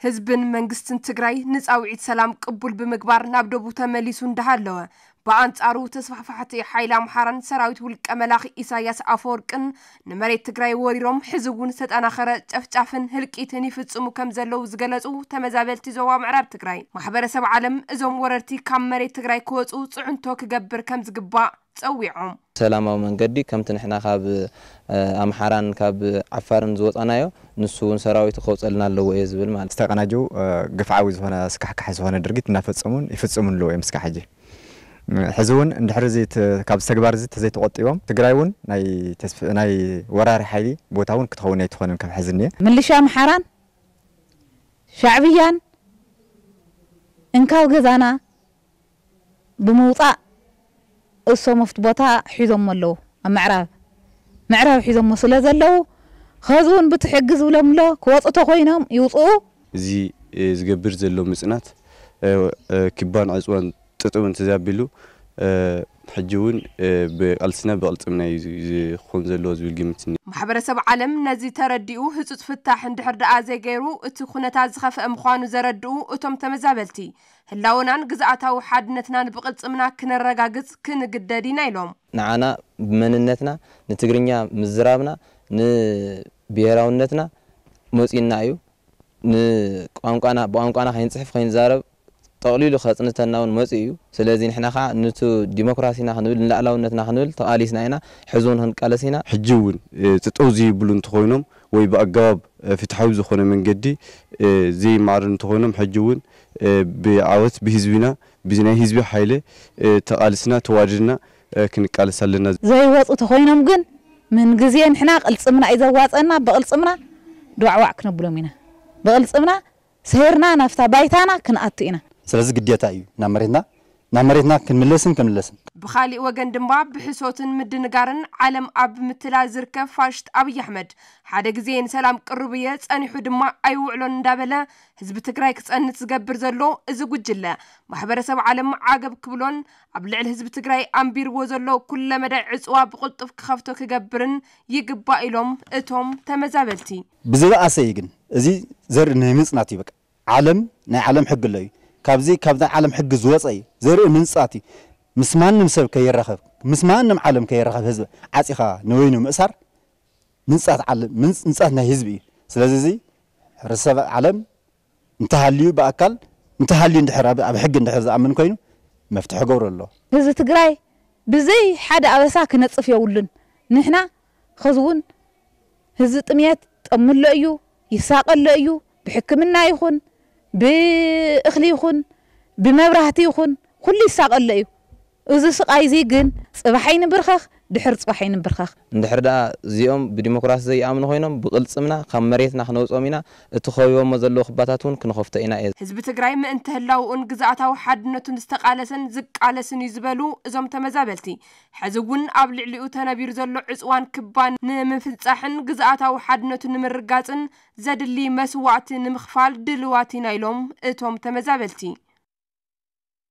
ህዝብን መንግስትን ትግራይ ንጻውዒት ሰላም ቅቡል ብምግባር ናብ ደቡ ተመሊሱ እንዳሃለወ፣ ብኣንጻሩ ተስፋሕፋሕቲ ሓይሊ ኣምሓራን ሰራዊት ውልቀ መላኺ ኢሳያስ ኣፈወርቅን ንመሬት ትግራይ ወሪሮም ሕዚ እውን ዝተጠናኸረ ጨፍጫፍን ህልቂትን ይፍጽሙ ከም ዘለዉ ዝገለጹ ተመዛበልቲ ዞባ ምዕራብ ትግራይ፣ ማሕበረሰብ ዓለም እዞም ወረርቲ ካብ መሬት ትግራይ ክወጹ ጽዕንቶ ክገብር ከም ዝግባእ ጸዊዖም። ሰላማዊ መንገዲ ከምቲ ንሕና ካብ ኣምሓራን ካብ ዓፋርን ዝወፃናዮ ንሱ እውን ሰራዊቱ ከውፀልና ኣለዎ እየ ዝብል ማለት። ዝተቀናጀው ግፍዓዊ ዝኾነ ስካሕካሒ ዝኾነ ድርጊት እናፈፀሙን ይፍፅሙን ኣለዎ እዮም እስካዕ ሕጂ። ሕዚ እውን እንድሕር እዚ ት- ካብዚ ተግባር እዚ ተዘይተቆጢቦም ትግራይ እውን ናይ ተስፍ- ናይ ወራሪ ሓይሊ ቦታ እውን ክትኸውን ኣይትኾንን ካብ ሕዚ እኒአ። ምልሻ ኣምሓራን ሻዕብያን እንካብ ገዛና ብምውፃእ እሶም ኣብቲ ቦታ ሒዞሞ ኣለዉ። ኣብ ምዕራብ ምዕራብ ሒዞሞ ስለ ዘለዉ ኸዚ እውን ብቲ ሕጊ ዝብሎም ኣሎ ክወፁ ተኮይኖም ይውፅኡ። እዚ ዝገብር ዘሎ ምፅናት ክባን ዕፅዋን ጥጥው እንተዘይኣቢሉ ሕጂ እውን ብቃልስና ብቅልፅምና እዩ ዝኮን ዘለዎ ዝብል ግምት እኒኦ። ማሕበረሰብ ዓለም ነዚ ተረዲኡ ህፁፅ ፍታሕ እንድሕር ደኣ ዘይገይሩ እቲ ኩነታት ዝኸፍአ ምዃኑ ዘረድኡ እቶም ተመዛበልቲ ህላውናን ግዝኣታዊ ሓድነትናን ብቅልፅምና ክነረጋግፅ ክንግደድ ኢና ኢሎም። ንዓና ብመንነትና ንትግርኛ ምዝራብና ንብሄራውነትና መፂና እዩ። ንቋንቋና ብቋንቋና ከይንፅሕፍ ከይንዛረብ ጠቕሊሉ ከፅንተና እውን መፂኡ እዩ። ስለዚ ንሕና ከዓ ንቱ ዲሞክራሲና ክንብል ንላዕላውነትና ክንብል ተቓሊስና ኢና። ሕዚ እውን ክንቃለስ ኢና። ሕጂ እውን ጥጠው ዘይብሉ እንተኮይኖም ወይ ብኣገባብ ፍትሓዊ ዝኾነ መንገዲ ዘይማዕሩ እንተኮይኖም ሕጂ እውን ብዓወት ብህዝቢና ብዚ ናይ ህዝቢ ሓይለ ተቓሊስና ተዋዲድና ክንቃለስ ኣለና። ዘይወፁ ተኮይኖም ግን ምን ግዜ ንሕና ቅልፅምና እዩ ዘዋፀና። ብቅልፅምና ዶዕዋዕ ክነብሎም ኢና። ብቅልፅምና ሰይርና ናብታ ባይታና ክንኣቱ ኢና። ስለዚ ግዴታ እዩ ናብ መሬትና ናብ መሬትና ክንምለስን ክንምለስን። ብኻሊእ ወገን ድማ ብሕሶትን ምድንጋርን ዓለም ኣብ ምትላል ዝርከብ ፋሽስት ኣብይ ኣሕመድ ሓደ ግዜ ንሰላም ቅሩብ እየ ጸኒሑ ድማ ኣይውዕሎን እንዳበለ ህዝቢ ትግራይ ክጸንት ዝገብር ዘሎ እዚ ጉጅለ ማሕበረሰብ ዓለም ዓገብ ክብሎን ኣብ ልዕሊ ህዝቢ ትግራይ ኣንቢርዎ ዘሎ ኩለ መዳይ ዕፅዋ ብቕልጡፍ ክኸፍቶ ክገብርን ይግባእ ኢሎም እቶም ተመዛበልቲ። ብዝበኣሰ እዩ ግን እዚ ዘርኢ ናይ ምፅናት እዩ። በቃ ዓለም ናይ ዓለም ሕጊ ኣሎ እዩ። ካብዚ ካብ ናይ ዓለም ሕጊ ዝወፀ እዩ። ዘርኢ ምንፃት እዩ። ምስ ማንም ሰብ ከይራኸብ ምስ ማንም ዓለም ከይራኸብ ህዝቢ ዓፂኻ ንበይኑ ምእሳር ምንፃት ዓለም ምንፃት ናይ ህዝቢ እዩ። ስለዚ እዚ ሕብረተሰብ ዓለም እንተሃልዩ ብኣካል እንተሃልዩ እንድሕር ኣብ ኣብ ሕጊ እንድሕር ዝኣምን ኮይኑ መፍትሒ ገብሩ ኣሎ። ህዝቢ ትግራይ ብዘይ ሓደ ኣበሳ ክነፅፍ የብሉን። ንሕና ኸዚ እውን ህዝቢ ጥምየት ጠምሎ እዩ ይሳቐሎ እዩ። ብሕክምና ይኹን ብእኽሊ ይኹን ብመብራህቲ ይኹን ኩሉ ይሳቐሎ እዩ። እዚ ስቓይ እዚ ግን ፅባሕ ኣይንብርከኽ ድሕር ፅባሕ ኣይንብርከኽ። እንድሕር ደኣ እዚኦም ብዲሞክራሲ ዘይኣምኑ ኮይኖም ብቕልፅምና ካብ መሬትና ክነውፅኦም ኢና። እቲ ከቢቦሞ ዘለዉ ክባታት እውን ክንኸፍቶ ኢና እየ። ህዝቢ ትግራይ ምእንቲ ህላውኡን ግዝኣታዊ ሓድነቱን ዝተቓለሰን ዝቃለስን እዩ ዝበሉ እዞም ተመዛበልቲ ሕዚ እውን ኣብ ልዕሊኡ ተነቢሩ ዘሎ ዕፅዋን ክባን ንምፍፃሕን ግዝኣታዊ ሓድነቱ ንምርጋፅን ዘድሊ መስዋእቲ ንምኽፋል ድልዋት ኢና ኢሎም እቶም ተመዛበልቲ።